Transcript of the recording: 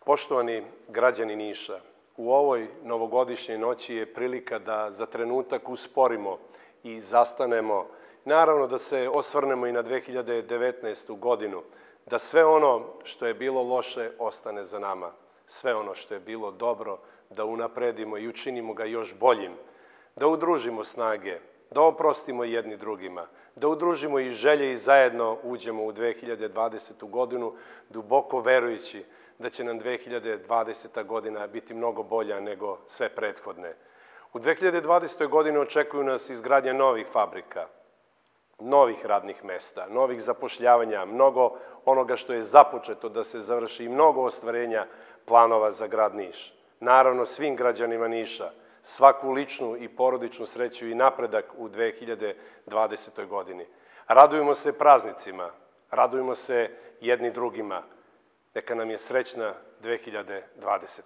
Poštovani građani Niša, u ovoj novogodišnjoj noći je prilika da za trenutak usporimo i zastanemo. Naravno da se osvrnemo i na 2019. godinu, da sve ono što je bilo loše ostane za nama. Sve ono što je bilo dobro da unapredimo i učinimo ga još boljim. Da udružimo snage, da oprostimo jedni drugima, da udružimo i želje i zajedno uđemo u 2020. godinu, duboko verujući da će nam 2020. godina biti mnogo bolja nego sve prethodne. U 2020. godini očekuju nas izgradnja novih fabrika, novih radnih mesta, novih zapošljavanja, mnogo onoga što je započeto da se završi i mnogo ostvarenja planova za grad Niš. Naravno, svim građanima Niša, svaku ličnu i porodičnu sreću i napredak u 2020. godini. Radujemo se praznicima, radujemo se jedni drugima. Neka nam je srećna 2020.